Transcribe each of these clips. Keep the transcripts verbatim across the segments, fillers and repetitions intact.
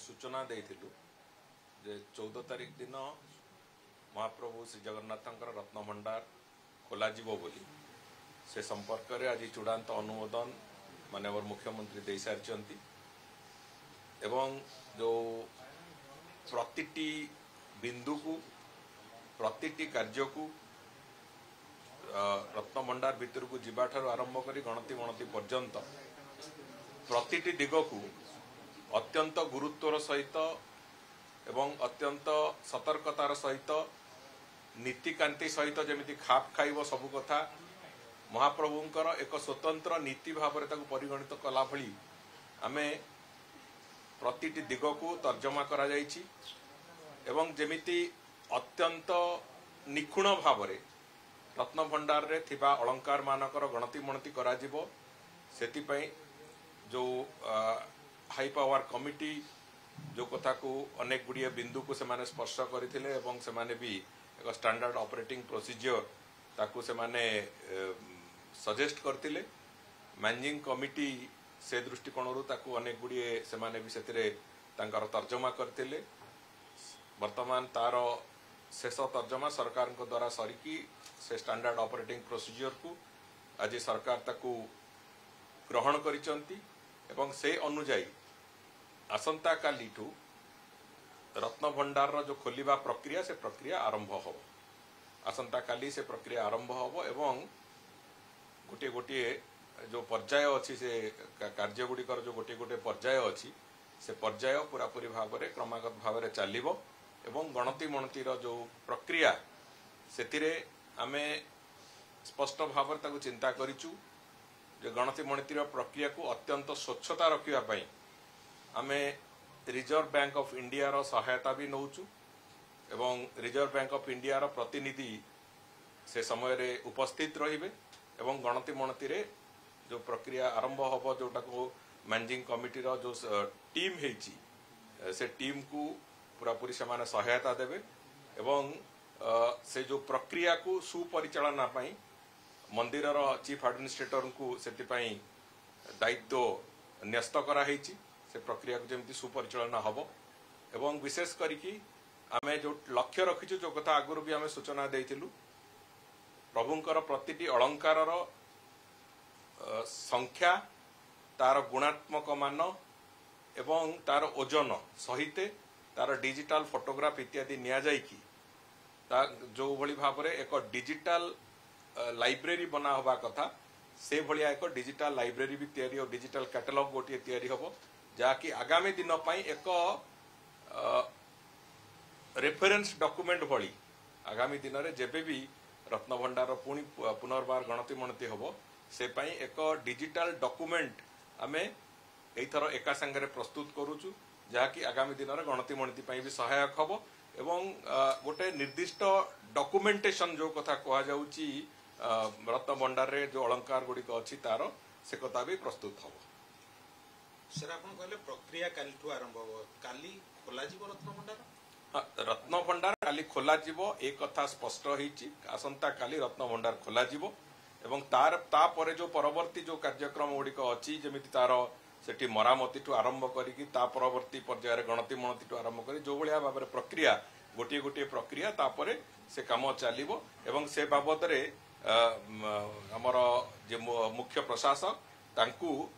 ସୂଚନା ଦେଇଥିଲୁ ଯେ ଚଉଦ ତାରିଖ ଦିନ ମହାପ୍ରଭୁ ଶ୍ରୀ ଜଗନ୍ନାଥଙ୍କର ରତ୍ନଭଣ୍ଡାର ଖୋଲାଯିବ ବୋଲି, ସେ ସମ୍ପର୍କରେ ଆଜି ଚୂଡ଼ାନ୍ତ ଅନୁମୋଦନ ମାନ୍ୟବର ମୁଖ୍ୟମନ୍ତ୍ରୀ ଦେଇସାରିଛନ୍ତି ଏବଂ ଯେଉଁ ପ୍ରତିଟି ବିନ୍ଦୁକୁ, ପ୍ରତିଟି କାର୍ଯ୍ୟକୁ, ରତ୍ନଭଣ୍ଡାର ଭିତରକୁ ଯିବାଠାରୁ ଆରମ୍ଭ କରି ଗଣତି ମଣତି ପର୍ଯ୍ୟନ୍ତ ପ୍ରତିଟି ଦିଗକୁ ଅତ୍ୟନ୍ତ ଗୁରୁତ୍ୱର ସହିତ ଏବଂ ଅତ୍ୟନ୍ତ ସତର୍କତାର ସହିତ, ନୀତିକାନ୍ତି ସହିତ ଯେମିତି ଖାପ ଖାଇବ ସବୁ କଥା, ମହାପ୍ରଭୁଙ୍କର ଏକ ସ୍ୱତନ୍ତ୍ର ନୀତି ଭାବରେ ତାକୁ ପରିଗଣିତ କଲା ଭଳି ଆମେ ପ୍ରତିଟି ଦିଗକୁ ତର୍ଜମା କରାଯାଇଛି ଏବଂ ଯେମିତି ଅତ୍ୟନ୍ତ ନିଖୁଣ ଭାବରେ ରତ୍ନଭଣ୍ଡାରରେ ଥିବା ଅଳଙ୍କାରମାନଙ୍କର ଗଣତି ମଣତି କରାଯିବ, ସେଥିପାଇଁ ଯେଉଁ ହାଇ ପାୱାର କମିଟି ଯେଉଁ କଥାକୁ ଅନେକ ଗୁଡ଼ିଏ ବିନ୍ଦୁକୁ ସେମାନେ ସ୍ପର୍ଶ କରିଥିଲେ ଏବଂ ସେମାନେ ବି ଏକ ଷ୍ଟାଣ୍ଡାର୍ଡ ଅପରେଟିଂ ପ୍ରୋସିଜିଓର ତାକୁ ସେମାନେ ସଜେଷ୍ଟ କରିଥିଲେ। ମ୍ୟାନେଜିଂ କମିଟି ସେ ଦୃଷ୍ଟିକୋଣରୁ ତାକୁ ଅନେକ ଗୁଡ଼ିଏ ସେମାନେ ବି ସେଥିରେ ତାଙ୍କର ତର୍ଜମା କରିଥିଲେ। ବର୍ତ୍ତମାନ ତାର ଶେଷ ତର୍ଜମା ସରକାରଙ୍କ ଦ୍ୱାରା ସରିକି ସେ ଷ୍ଟାଣ୍ଡାର୍ଡ ଅପରେଟିଂ ପ୍ରୋସିଜିଓରକୁ ଆଜି ସରକାର ତାକୁ ଗ୍ରହଣ କରିଛନ୍ତି ଏବଂ ସେ ଅନୁଯାୟୀ ଆସନ୍ତାକାଲିଠୁ ରତ୍ନଭଣ୍ଡାରର ଯେଉଁ ଖୋଲିବା ପ୍ରକ୍ରିୟା, ସେ ପ୍ରକ୍ରିୟା ଆରମ୍ଭ ହେବ। ଆସନ୍ତାକାଲି ସେ ପ୍ରକ୍ରିୟା ଆରମ୍ଭ ହେବ ଏବଂ ଗୋଟିଏ ଗୋଟିଏ ଯେଉଁ ପର୍ଯ୍ୟାୟ ଅଛି, ସେ କାର୍ଯ୍ୟ ଗୁଡ଼ିକର ଯେଉଁ ଗୋଟିଏ ଗୋଟିଏ ପର୍ଯ୍ୟାୟ ଅଛି, ସେ ପର୍ଯ୍ୟାୟ ପୁରାପୁରି ଭାବରେ କ୍ରମାଗତ ଭାବରେ ଚାଲିବ ଏବଂ ଗଣତି ମଣତିର ଯେଉଁ ପ୍ରକ୍ରିୟା, ସେଥିରେ ଆମେ ସ୍ପଷ୍ଟ ଭାବରେ ତାକୁ ଚିନ୍ତା କରିଛୁ ଯେ ଗଣତି ମଣତିର ପ୍ରକ୍ରିୟାକୁ ଅତ୍ୟନ୍ତ ସ୍ୱଚ୍ଛତା ରଖିବା ପାଇଁ ଆମେ ରିଜର୍ଭ ବ୍ୟାଙ୍କ ଅଫ୍ ଇଣ୍ଡିଆର ସହାୟତା ବି ନେଉଛୁ ଏବଂ ରିଜର୍ଭ ବ୍ୟାଙ୍କ ଅଫ୍ ଇଣ୍ଡିଆର ପ୍ରତିନିଧି ସେ ସମୟରେ ଉପସ୍ଥିତ ରହିବେ ଏବଂ ଗଣତି ମଣତିରେ ଯେଉଁ ପ୍ରକ୍ରିୟା ଆରମ୍ଭ ହେବ, ଯେଉଁଟାକୁ ମ୍ୟାନେଜିଂ କମିଟିର ଯେଉଁ ଟିମ୍ ହେଇଛି, ସେ ଟିମ୍କୁ ପୁରାପୁରି ସେମାନେ ସହାୟତା ଦେବେ ଏବଂ ସେ ଯେଉଁ ପ୍ରକ୍ରିୟାକୁ ସୁପରିଚାଳନା ପାଇଁ ମନ୍ଦିରର ଚିଫ୍ ଆଡମିନିଷ୍ଟ୍ରେଟରଙ୍କୁ ସେଥିପାଇଁ ଦାୟିତ୍ୱ ନ୍ୟସ୍ତ କରାହେଇଛି। ସେ ପ୍ରକ୍ରିୟାକୁ ଯେମିତି ସୁପରିଚାଳନା ହେବ ଏବଂ ବିଶେଷ କରିକି ଆମେ ଯେଉଁ ଲକ୍ଷ୍ୟ ରଖିଛୁ, ଯେଉଁ କଥା ଆଗରୁ ବି ଆମେ ସୂଚନା ଦେଇଥିଲୁ, ପ୍ରଭୁଙ୍କର ପ୍ରତିଟି ଅଳଙ୍କାରର ସଂଖ୍ୟା, ତାର ଗୁଣାତ୍ମକ ମାନ ଏବଂ ତାର ଓଜନ ସହିତ ତାର ଡିଜିଟାଲ ଫଟୋଗ୍ରାଫ ଇତ୍ୟାଦି ନିଆଯାଇକି ତା ଯେଉଁଭଳି ଭାବରେ ଏକ ଡିଜିଟାଲ ଲାଇବ୍ରେରୀ ବନା ହେବା କଥା, ସେଭଳିଆ ଏକ ଡିଜିଟାଲ ଲାଇବ୍ରେରୀ ବି ତିଆରି ହେବ, ଡିଜିଟାଲ କ୍ୟାଟାଲଗ ଗୋଟିଏ ତିଆରି ହେବ, ଯାହାକି ଆଗାମୀ ଦିନ ପାଇଁ ଏକ ରେଫରେନ୍ସ ଡକୁମେଣ୍ଟ ଭଳି ଆଗାମୀ ଦିନରେ ଯେବେ ବି ରତ୍ନଭଣ୍ଡାର ପୁଣି ପୁନର୍ବାର ଗଣତି ମଣତି ହେବ, ସେ ପାଇଁ ଏକ ଡିଜିଟାଲ ଡକୁମେଣ୍ଟ ଆମେ ଏଇଥର ଏକା ସାଙ୍ଗରେ ପ୍ରସ୍ତୁତ କରୁଛୁ, ଯାହାକି ଆଗାମୀ ଦିନରେ ଗଣତି ମଣତି ପାଇଁ ବି ସହାୟକ ହେବ ଏବଂ ଗୋଟେ ନିର୍ଦ୍ଦିଷ୍ଟ ଡକୁମେଣ୍ଟେସନ ଯେଉଁ କଥା କୁହାଯାଉଛି ରତ୍ନଭଣ୍ଡାରରେ ଯେଉଁ ଅଳଙ୍କାର ଗୁଡ଼ିକ ଅଛି ତାର, ସେ କଥା ବି ପ୍ରସ୍ତୁତ ହେବ। ସାର୍, ଆପଣ କହିଲେ ପ୍ରକ୍ରିୟା କାଲିଠୁ ଆରମ୍ଭ ହେବ, କାଲି ଖୋଲାଯିବ ରତ୍ନଭଣ୍ଡାର? ରତ୍ନଭଣ୍ଡାର କାଲି ଖୋଲାଯିବ ଏ କଥା ସ୍ପଷ୍ଟ ହେଇଛି। ଆସନ୍ତାକାଲି ରତ୍ନଭଣ୍ଡାର ଖୋଲାଯିବ ଏବଂ ତାର ତାପରେ ଯେଉଁ ପରବର୍ତ୍ତୀ ଯେଉଁ କାର୍ଯ୍ୟକ୍ରମ ଗୁଡ଼ିକ ଅଛି, ଯେମିତି ତାର ସେଠି ମରାମତିଠୁ ଆରମ୍ଭ କରିକି ତା ପରବର୍ତ୍ତୀ ପର୍ଯ୍ୟାୟରେ ଗଣତି ମଣତିଠୁ ଆରମ୍ଭ କରି ଯେଉଁଭଳିଆ ଭାବରେ ପ୍ରକ୍ରିୟା, ଗୋଟିଏ ଗୋଟିଏ ପ୍ରକ୍ରିୟା, ତାପରେ ସେ କାମ ଚାଲିବ ଏବଂ ସେ ବାବଦରେ ଆମର ଯେ ମୁଖ୍ୟ ପ୍ରଶାସକ ତାଙ୍କୁ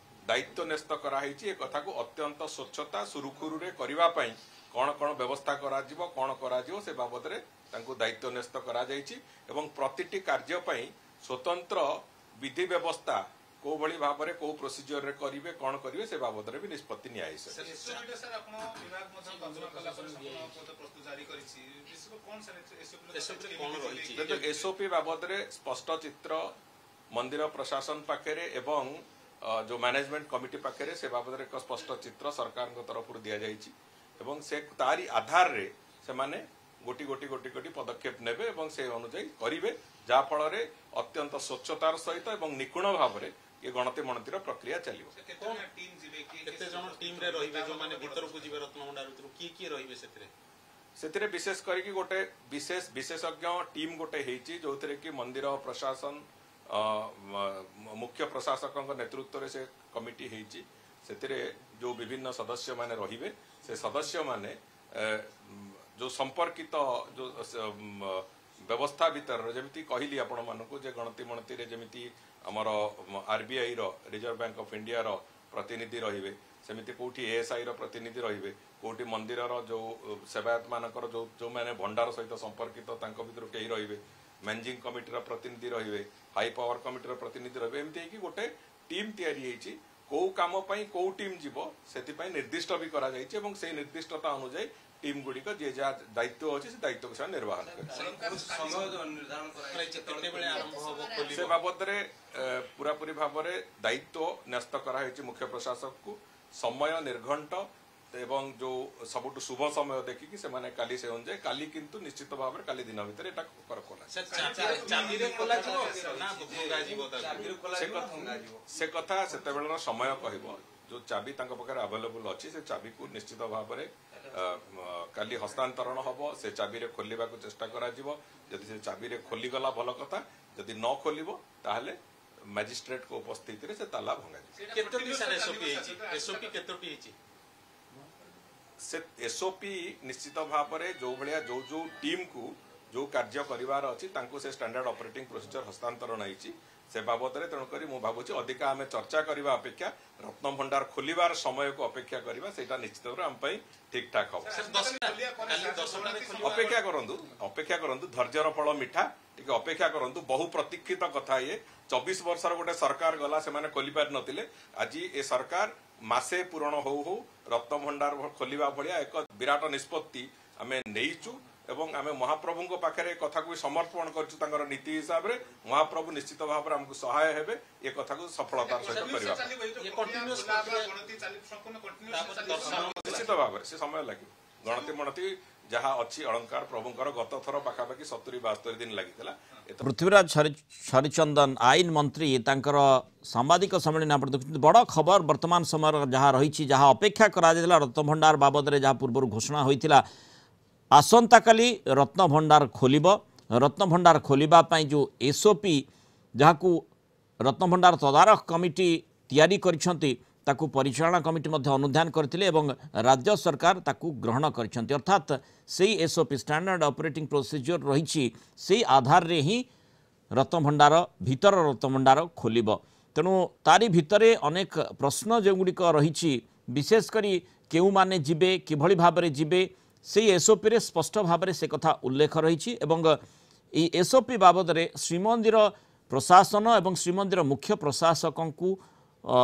ଦାୟିତ୍ୱ ନ୍ୟସ୍ତ କରାହେଇଛି ଏ କଥାକୁ ଅତ୍ୟନ୍ତ ସ୍ୱଚ୍ଛତା ସୁରୁଖୁରୁରେ କରିବା ପାଇଁ କ'ଣ କ'ଣ ବ୍ୟବସ୍ଥା କରାଯିବ, କ'ଣ କରାଯିବ, ସେ ବାବଦରେ ତାଙ୍କୁ ଦାୟିତ୍ୱ ନ୍ୟସ୍ତ କରାଯାଇଛି ଏବଂ ପ୍ରତିଟି କାର୍ଯ୍ୟ ପାଇଁ ସ୍ୱତନ୍ତ୍ର ବିଧି ବ୍ୟବସ୍ଥା କୋଉଭଳି ଭାବରେ କୋଉ ପ୍ରୋସିଜିଓରରେ କରିବେ, କ'ଣ କରିବେ, ସେ ବାବଦରେ ବି ନିଷ୍ପତ୍ତି ନିଆଯାଇଛି। ଏସ୍ଓପି ବାବଦରେ ସ୍ପଷ୍ଟ ଚିତ୍ର ମନ୍ଦିର ପ୍ରଶାସନ ପାଖରେ ଏବଂ ଯେଉଁ ମ୍ୟାନେଜମେଣ୍ଟ କମିଟି ପାଖରେ ସେ ବାବଦରେ ଏକ ସ୍ପଷ୍ଟ ଚିତ୍ର ସରକାରଙ୍କ ତରଫରୁ ଦିଆଯାଇଛି ଏବଂ ସେ ତାରି ଆଧାରରେ ସେମାନେ ଗୋଟି ଗୋଟି ଗୋଟି ଗୋଟି ପଦକ୍ଷେପ ନେବେ ଏବଂ ସେ ଅନୁଯାୟୀ କରିବେ, ଯାହାଫଳରେ ଅତ୍ୟନ୍ତ ସ୍ୱଚ୍ଛତାର ସହିତ ଏବଂ ନିଖୁଣ ଭାବରେ ଏ ଗଣତି ମଣତିର ପ୍ରକ୍ରିୟା ଚାଲିବ। କେତେ ଜଣ ଟିମ୍ରେ ରହିବେ ଯୋଉମାନେ ଭିତରକୁ ଯିବେ ରତ୍ନଭଣ୍ଡାର ଭିତରକୁ, କିଏ କିଏ ରହିବେ ସେଥିରେ? ସେଥିରେ ବିଶେଷ କରିକି ଗୋଟେ ବିଶେଷ ବିଶେଷଜ୍ଞ ଟିମ୍ ଗୋଟେ ହେଇଛି, ଯୋଉଥିରେ କି ମନ୍ଦିର ପ୍ରଶାସନ ମୁଖ୍ୟ ପ୍ରଶାସକଙ୍କ ନେତୃତ୍ୱରେ ସେ କମିଟି ହେଇଛି। ସେଥିରେ ଯେଉଁ ବିଭିନ୍ନ ସଦସ୍ୟମାନେ ରହିବେ ସେ ସଦସ୍ୟମାନେ ଏ, ଯେଉଁ ସମ୍ପର୍କିତ ଯେଉଁ ବ୍ୟବସ୍ଥା ଭିତରର ଯେମିତି କହିଲି ଆପଣମାନଙ୍କୁ ଯେ ଗଣତି ମଣତିରେ ଯେମିତି ଆମର ଆରବିଆଇର ରିଜର୍ଭ ବ୍ୟାଙ୍କ ଅଫ୍ ଇଣ୍ଡିଆର ପ୍ରତିନିଧି ରହିବେ ସେମିତି କୋଉଠି ଏଏସ୍ଆଇର ପ୍ରତିନିଧି ରହିବେ କୋଉଠି ମନ୍ଦିରର ଯେଉଁ ସେବାୟତମାନଙ୍କର ଯେଉଁ ଯେଉଁମାନେ ଭଣ୍ଡାର ସହିତ ସମ୍ପର୍କିତ ତାଙ୍କ ଭିତରୁ କେହି ରହିବେ ମ୍ୟାନେଜିଂ କମିଟିର ପ୍ରତିନିଧି ରହିବେ ହାଇ ପାୱାର କମିଟିର ପ୍ରତିନିଧି ରହିବେ ଏମିତି ହେଇକି ଗୋଟେ ଟିମ୍ ତିଆରି ହେଇଛି କୋଉ କାମ ପାଇଁ କୋଉ ଟିମ୍ ଯିବ ସେଥିପାଇଁ ନିର୍ଦ୍ଦିଷ୍ଟ ବି କରାଯାଇଛି ଏବଂ ସେଇ ନିର୍ଦ୍ଦିଷ୍ଟତା ଅନୁଯାୟୀ ଟିମ୍ ଗୁଡ଼ିକ ଯିଏ ଯାହା ଦାୟିତ୍ୱ ଅଛି ସେ ଦାୟିତ୍ୱକୁ ସେମାନେ ନିର୍ବାହନ କରିବେ ସମୟ ନିର୍ଦ୍ଧାରଣ କରାଯାଇଛି କେତେବେଳେ ଆରମ୍ଭ ହବ ଖୋଲିବ ସେ ବାବଦରେ ଏ, ପୁରାପୁରି ଭାବରେ ଦାୟିତ୍ୱ ନ୍ୟସ୍ତ କରାହେଇଛି ମୁଖ୍ୟ ପ୍ରଶାସକକୁ ସମୟ ନିର୍ଘଣ୍ଟ ଏବଂ ଯୋଉ ସବୁଠୁ ଶୁଭ ସମୟ ଦେଖିକି ସେମାନେ କାଲି ସେ ଅନୁଯାୟୀ କାଲି କିନ୍ତୁ ନିଶ୍ଚିତ ଭାବରେ କାଲି ଦିନ ଭିତରେ ଏଟା କର- ଖୋଲା ସାର୍ ଚାବିରେ ଚାବିରେ ଖୋଲାଯିବ ନା ଭଙ୍ଗାଯିବ ତାକୁ ଚାବିରେ ସେ ଖୋଲାଯିବ ନା କଥା ଭଙ୍ଗାଯିବ ସେ କଥା ସେତେବେଳର ସମୟ କହିବ ଯୋଉ ଚାବି ତାଙ୍କ ପାଖରେ ଆଭେଲେବୁଲ ଅଛି ସେ ଚାବିକୁ ନିଶ୍ଚିତ ଭାବରେ ଅ, ମ, କାଲି ହସ୍ତାନ୍ତରଣ ହବ ସେ ଚାବିରେ ଖୋଲିବାକୁ ଚେଷ୍ଟା କରାଯିବ ଯଦି ସେ ଚାବିରେ ଖୋଲିଗଲା ଭଲ କଥା ଯଦି ନ ଖୋଲିବ ତାହେଲେ ମ୍ୟାଜିଷ୍ଟ୍ରେଟଙ୍କ ଉପସ୍ଥିତିରେ ସେ ତାଲା ଭଙ୍ଗାଯିବ କେତୋଟି ସାର୍ ଏସଓପି ହେଇଛି ଏସଓପି କେତୋଟି ହେଇଛି ସେ ଏସଓପି ନିଶ୍ଚିତ ଭାବରେ ଯୋଉ ଭଳିଆ ଯୋଉ ଯୋଉ ଟିମ୍କୁ ଯୋଉ କାର୍ଯ୍ୟ କରିବାର ଅଛି ତାଙ୍କୁ ସେ ଷ୍ଟାଣ୍ଡାର୍ଡ ଅପରେଟିଂ ପ୍ରୋସିଜର ହସ୍ତାନ୍ତରଣ ହେଇଛି ସେ ବାବଦରେ ତେଣୁକରି ମୁଁ ଭାବୁଛି ଅଧିକା ଆମେ ଚର୍ଚ୍ଚା କରିବା ଅପେକ୍ଷା ରତ୍ନଭଣ୍ଡାର ଖୋଲିବାର ସମୟକୁ ଅପେକ୍ଷା କରିବା ସେଇଟା ନିଶ୍ଚିତ ଭାବରେ ଆମ ପାଇଁ ଠିକ ଠାକ ହବ ସାର୍ ଦଶଟା କାଲି ଦଶଟାରେ ଖୋଲିବ ଅପେକ୍ଷା କରନ୍ତୁ ଅପେକ୍ଷା କରନ୍ତୁ ଧୈର୍ଯ୍ୟର ଫଳ ମିଠା ଟିକେ ଅପେକ୍ଷା କରନ୍ତୁ ବହୁ ପ୍ରତୀକ୍ଷିତ କଥା ଇଏ ଚବିଶ ବର୍ଷର ଗୋଟେ ସରକାର ଗଲା ସେମାନେ ଖୋଲି ପାରିନଥିଲେ ଆଜି ଏ ସରକାର ମାସେ ପୂରଣ ହଉ ହଉ ରତ୍ନଭଣ୍ଡାର ଖୋଲିବା ଭଳିଆ ଏକ ବିରାଟ ନିଷ୍ପତ୍ତି ଆମେ ନେଇଛୁ ଏବଂ ଆମେ ମହାପ୍ରଭୁଙ୍କ ପାଖରେ ଏ କଥାକୁ ବି ସମର୍ପଣ କରିଛୁ ତାଙ୍କର ନୀତି ହିସାବରେ ମହାପ୍ରଭୁ ନିଶ୍ଚିତ ଭାବରେ ଆମକୁ ସହାୟ ହେବେ ଏ କଥାକୁ ସଫଳତାର ସହିତ କରିବା ପାଇଁ। ଇଏ continuous ପ୍ରକ୍ରିୟା- ତାପରେ ଦର୍ଶନ ନିଶ୍ଚିତ ଭାବରେ ସେ ସମୟ ଲାଗିବ ଗଣତି ମଣତି ଯାହା ଅଛି ଅଳଙ୍କାର ପ୍ରଭୁଙ୍କର ଗତ ଥର ପାଖାପାଖି ସତୁରି ବାସ୍ତରି ଦିନ ଲାଗିଥିଲା ଏଥର ପୃଥ୍ୱୀରାଜ ହରି- ହରିଚନ୍ଦନ ଆଇନ ମନ୍ତ୍ରୀ ତାଙ୍କର ସାମ୍ବାଦିକ ସମ୍ମିଳନୀ ଆପଣ ଦେଖୁଛନ୍ତି ବଡ଼ ଖବର ବର୍ତ୍ତମାନ ସମୟର ଯାହା ରହିଛି ଯାହା ଅପେକ୍ଷା କରାଯାଇଥିଲା ରତ୍ନଭଣ୍ଡାର ବାବଦରେ ଯାହା ପୂର୍ବରୁ ଘୋଷଣା ହୋଇଥିଲା ଆସନ୍ତାକାଲି ରତ୍ନଭଣ୍ଡାର ଖୋଲିବ ରତ୍ନଭଣ୍ଡାର ଖୋଲିବା ପାଇଁ ଯେଉଁ ଏସ୍ଓପି ଯାହାକୁ ରତ୍ନଭଣ୍ଡାର ତଦାରଖ କମିଟି ତିଆରି କରିଛନ୍ତି ତାକୁ ପରିଚାଳନା କମିଟି ମଧ୍ୟ ଅନୁଧ୍ୟାନ କରିଥିଲେ ଏବଂ ରାଜ୍ୟ ସରକାର ତାକୁ ଗ୍ରହଣ କରିଛନ୍ତି ଅର୍ଥାତ୍ ସେଇ ଏସ୍ଓପି ଷ୍ଟାଣ୍ଡାର୍ଡ ଅପରେଟିଂ ପ୍ରୋସିଜିଓର ରହିଛି ସେଇ ଆଧାରରେ ହିଁ ରତ୍ନଭଣ୍ଡାର ଭିତର ରତ୍ନଭଣ୍ଡାର ଖୋଲିବ ତେଣୁ ତାରି ଭିତରେ ଅନେକ ପ୍ରଶ୍ନ ଯେଉଁଗୁଡ଼ିକ ରହିଛି ବିଶେଷ କରି କେଉଁମାନେ ଯିବେ କିଭଳି ଭାବରେ ଯିବେ ସେଇ ଏସ୍ଓପିରେ ସ୍ପଷ୍ଟ ଭାବରେ ସେ କଥା ଉଲ୍ଲେଖ ରହିଛି ଏବଂ ଏଇ ଏସ୍ଓପି ବାବଦରେ ଶ୍ରୀମନ୍ଦିର ପ୍ରଶାସନ ଏବଂ ଶ୍ରୀମନ୍ଦିର ମୁଖ୍ୟ ପ୍ରଶାସକଙ୍କୁ ଅ,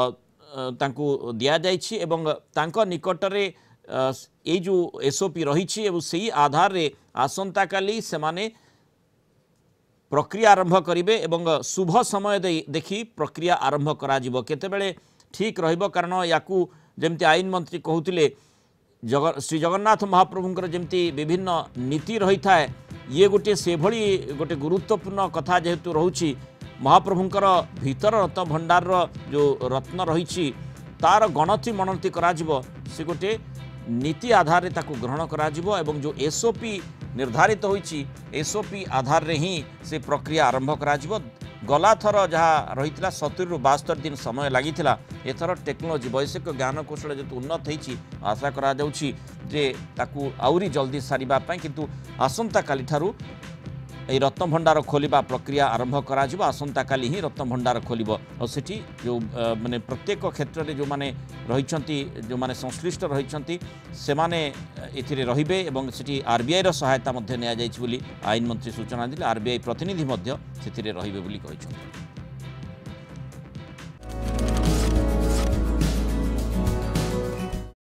ଅ, ତାଙ୍କୁ ଦିଆଯାଇଛି ଏବଂ ତାଙ୍କ ନିକଟରେ ଅ, ଏଇ ଯେଉଁ ଏସ୍ଓପି ରହିଛି ଏବଂ ସେଇ ଆଧାରରେ ଆସନ୍ତାକାଲି ସେମାନେ ପ୍ରକ୍ରିୟା ଆରମ୍ଭ କରିବେ ଏବଂ ଶୁଭ ସମୟ ଦେଇ ଦେଖି ପ୍ରକ୍ରିୟା ଆରମ୍ଭ କରାଯିବ କେତେବେଳେ ଠିକ୍ ରହିବ କାରଣ ୟାକୁ ଯେମିତି ଆଇନ ମନ୍ତ୍ରୀ କହୁଥିଲେ ଜଗ ଶ୍ରୀ ଜଗନ୍ନାଥ ମହାପ୍ରଭୁଙ୍କର ଯେମିତି ବିଭିନ୍ନ ନୀତି ରହିଥାଏ ଇଏ ଗୋଟିଏ ସେଭଳି ଗୋଟେ ଗୁରୁତ୍ୱପୂର୍ଣ୍ଣ କଥା ଯେହେତୁ ରହୁଛି ମହାପ୍ରଭୁଙ୍କର ଭିତର ରତ୍ନ ଭଣ୍ଡାରର ଯେଉଁ ରତ୍ନ ରହିଛି ତାର ଗଣତି ମଣତି କରାଯିବ ସେ ଗୋଟିଏ ନୀତି ଆଧାରରେ ତାକୁ ଗ୍ରହଣ କରାଯିବ ଏବଂ ଯେଉଁ ଏସ୍ଓପି ନିର୍ଦ୍ଧାରିତ ହୋଇଛି ଏସ୍ଓପି ଆଧାରରେ ହିଁ ସେ ପ୍ରକ୍ରିୟା ଆରମ୍ଭ କରାଯିବ ଗଲାଥର ଯାହା ରହିଥିଲା ସତୁରିରୁ ବାସ୍ତରି ଦିନ ସମୟ ଲାଗିଥିଲା ଏଥର ଟେକ୍ନୋଲୋଜି ବୈଷୟିକ ଜ୍ଞାନକୌଶଳ ଯେହେତୁ ଉନ୍ନତ ହେଇଛି ଆଶା କରାଯାଉଛି ଯେ ତାକୁ ଆହୁରି ଜଲ୍ଦି ସାରିବା ପାଇଁ କିନ୍ତୁ ଆସନ୍ତାକାଲିଠାରୁ এই ରତ୍ନଭଣ୍ଡାର ଖୋଲିବା ପ୍ରକ୍ରିୟା ଆରମ୍ଭ କରାଯିବ ଆସନ୍ତାକାଲି ହିଁ ରତ୍ନଭଣ୍ଡାର ଖୋଲିବ ଆଉ ସେଠି ଯେଉଁ ଅ, ମାନେ ପ୍ରତ୍ୟେକ କ୍ଷେତ୍ରରେ ଯେଉଁମାନେ ରହିଛନ୍ତି ଯେଉଁମାନେ ସଂଶ୍ଳିଷ୍ଟ ରହିଛନ୍ତି ସେମାନେ ଏଥିରେ ରହିବେ ଏବଂ ସେଠି ଆର୍ବିଆଇର ସହାୟତା ମଧ୍ୟ ନିଆଯାଇଛି ବୋଲି ଆଇନ ମନ୍ତ୍ରୀ ସୂଚନା ଦେଲେ ଆର୍ବିଆଇ ପ୍ରତିନିଧି ମଧ୍ୟ ସେଥିରେ ରହିବେ ବୋଲି କହିଛନ୍ତି।